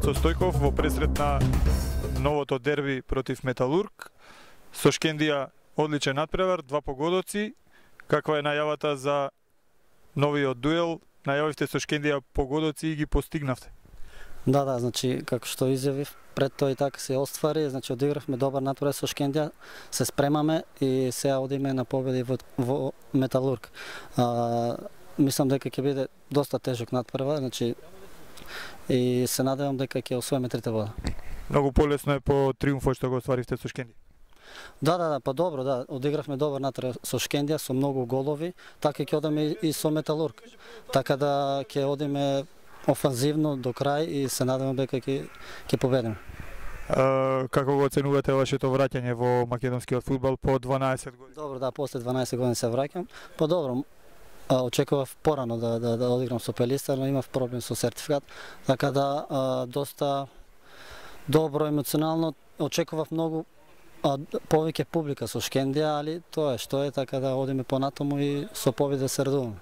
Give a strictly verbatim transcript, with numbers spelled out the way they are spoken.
Ацо Стојков во пресрет на новото дерби против Металург. Со Шкендија одличен надпревар, два погодоци. Каква е најавата за новиот дуел? Најавивте со Шкендија погодоци и ги постигнавте. Да, да, значи како што изјавив, пред тоа и така се оствари, значи одигравме добар надпревар со Шкендија, се спремаме и сега одиме на победи во, во Металург. А, мислам дека ќе биде доста тежок надпревар, значи и се надевам дека ќе освоиме трите бода. Многу полесно е по триумфот што го остваривте со Шкендија. Да, да, да, па добро, да, одигравме добар надпревар со Шкендија, со многу голови, така ќе одиме и со Металург. Така да ќе одиме офанзивно до крај и се надевам дека ќе ќе победиме. Uh, како го оценувате вашето враќање во македонскиот фудбал по дванаесет години? Добро, да, после дванаесет години се враќам. По добро, очекував порано да, да, да одиграм со Пелистар, но имав проблем со сертификат, така да а, доста добро емоционално, очекував многу а, повеќе публика со Шкендија, али тоа е што е, така да одиме понатаму и со победа се радуваме.